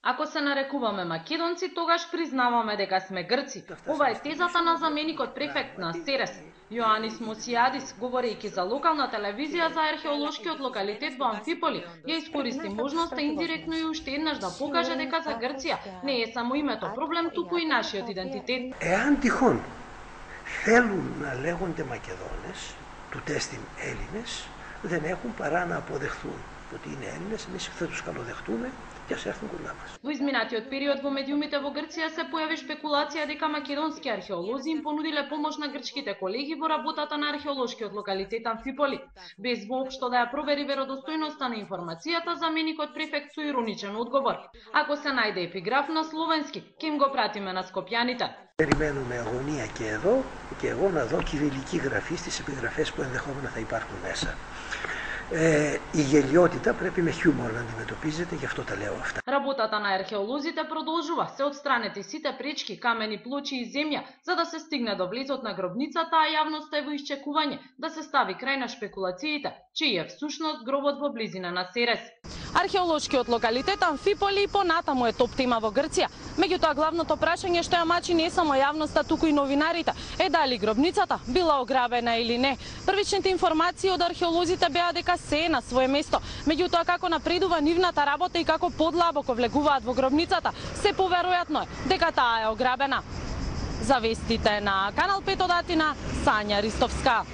Ако се нарекуваме македонци, тогаш признаваме дека сме грци. Ова е тезата на заменикот префект на СЕРЕС, Јоанис Мосијадис, говорејќи за локална телевизија за археолошкиот локалитет во Амфиполи, ја искористи можноста индиректно и уште еднаш да покаже дека за Грција не е само името проблем, туку и нашиот идентитет. Εάν τυχόν θέλουν να λέγονται Μακεδόνες, του τέστην Έλληνες, δεν έχουν παρά να αποδεχθούν ότι είναι Έλληνες, εμείς θα τους καλοδεχτούμε και ας έρθουν κοντά μας. Во изминатиот период во медиумите во Грција се појави шпекулација дека македонски археолози им понудиле помош на грчките колеги во работата на археолошкиот локалитет Амфиполи. Без воопшто да ја провери веродостојноста на информацијата, заменикот префект со ироничен одговор: ако се најде епиграф на словенски, ќе им го пратиме на скопјаните. Περιμένουμε αγωνία και εδώ και εγώ να δω κυβιλική γραφή στις επιγραφές που ενδεχόμενα θα υπάρχουν μέσα. Η γελιότητα πρέπει με χιούμορ να αντιμετωπίζεται, γι' αυτό τα λέω αυτά. Работата на археолозите продолжува, се отстранети сите пречки, камени, плочи и земја, за да се стигне до влезот на гробницата, а јавноста е во исчекување да се стави крај на шпекулациите, чиј е всушност гробот во близина на СЕРЕС. Археолошкиот локалитет Амфиполи и понатаму е топ тема во Грција. Меѓутоа главното прашање што ја мачи не само јавноста, туку и новинарите е дали гробницата била ограбена или не. Првичните информации од археолозите беа дека се е на свое место. Меѓутоа како напредува нивната работа и како подлабоко влегуваат во гробницата, се поверојатно е дека таа е ограбена. За вестите на Канал 5 од Атина, Сања Ристовска.